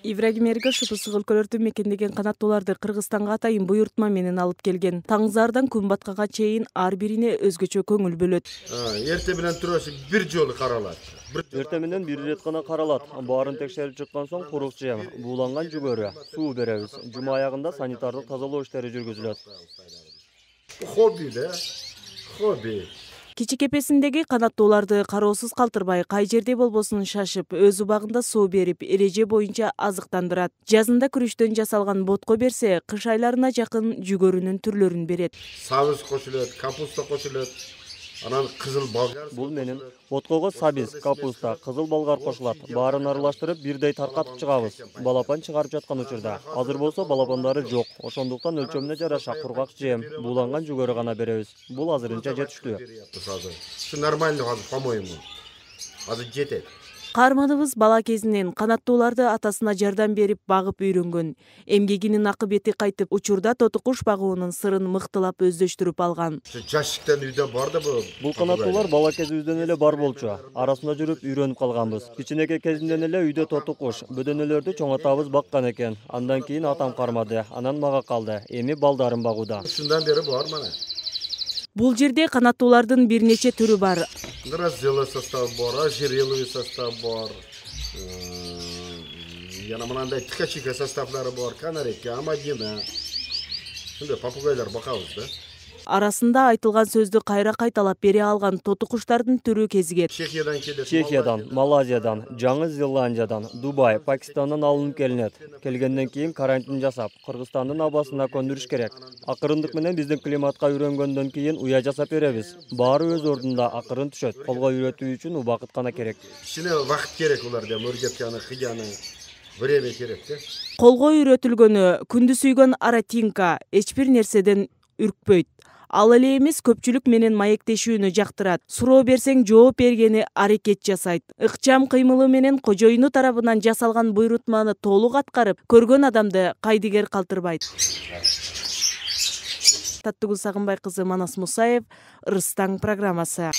Ибрагим Эргашев ысык өлкөлөрдү мекендеген канаттууларды Кыргызстанга атайын буйрутма менен алып келген. Таңзаардан күн баткага чейин ар бирине өзгөчө көңүл бөлөт. Эрте менен турасы бир жолу каралат. Эрте менен бир ирет гана каралат. Баарын текшерип чыккан соң курук жем, бууланган жүгөрү, суу беребиз. Жума аягында санитардык тазалоо иштери жүргүзүлөт. Хобби да, хобби. Кичикепесиндеги канаттууларды кароосуз калтырбай, кай жерде болбосун шашып, өз убагында суу берип, эреже боюнча азыктандырат. Жазында күрүчтөн жасалган ботко берсе, кыш айларына жакын жүгөрүнүн түрлөрүн берет. Сабыз кошулат, капуста кошулат. Анан кызыл болгар. Бул менен боткого сабиз, капуста, кызыл болгар кошулат. Баарын аралаштырып, бирдей таркатып чыгабыз. Балапан чыгарып жаткан учурда. Азыр болсо балапандары жок. Ошондуктан өлчөмүнө жараша кургак жем, бууланган жүгөрү гана беребиз. Бул азырынча жетиштүү. Ушу нормально азыр, по-моему. Азыр жетет. Каарманыбыз бала кезинен канаттууларды атасына жардам берип багып үйрөнгөн. Эмгегинин акыбети кайтып, учурда тоту куш багуунун сырын мыктылап өздөштүрүп алган. Жашыктан үйдө бар да бул. Бул канаттуулар бала кезибизден эле бар болчу. Арасында жүрүп үйрөнүп калганбыз. Кичинекей кезимден эле үйдө тоту куш, бөдөнөлөрдү чоң атабыз баккан экен. Андан кийин атам кармады, анан мага калды. Эми балдарын багууда. Ушундан бери бар мана. Бул жерде канаттуулардын бир нече түрү бар. Разделый состав бар, ожерелый состав бар. Яна мынандай ткачиха составлары бар, канарейка, амадина. Шундай попугайлар бакабыз да. Арасында айтылган сөздү кайра кайталап бере алган тоту куштардын түрү кезигет. Чехиядан келет. Чехиядан, Малайзиядан, Жаңы Зеландиядан, Дубай, Пакистандан алынып келинет. Келгенден кийин карантин жасап, Кыргызстандын абасына көндүрүш керек. Акырындык менен биздин климатка үйрөнгөндөн кийин уя жасап беребиз. Баары өз ордунда акырын түшөт. Колго үйрөтүү үчүн убакыт гана керек. Кичине убакыт керек уларда, мөргөткөнү, кыяны. Время керек да. Колго үйрөтүлгөнү күндү сүйгөн Аратинка эч бир нерседен үркпөйт. Ал эле эмес, көпчүлүк менен маектешүүнү жактырат. Суроо берсең жооп бергени аракет жасайт. Ыкчам кыймылы менен кожоюну тарабынан жасалган буйрутманы толук аткарып, көргөн адамды кайдыгер калтырбайт. Таттыгүл Сагынбай кызы, Манас Мусаев, Ырыс таң программасы.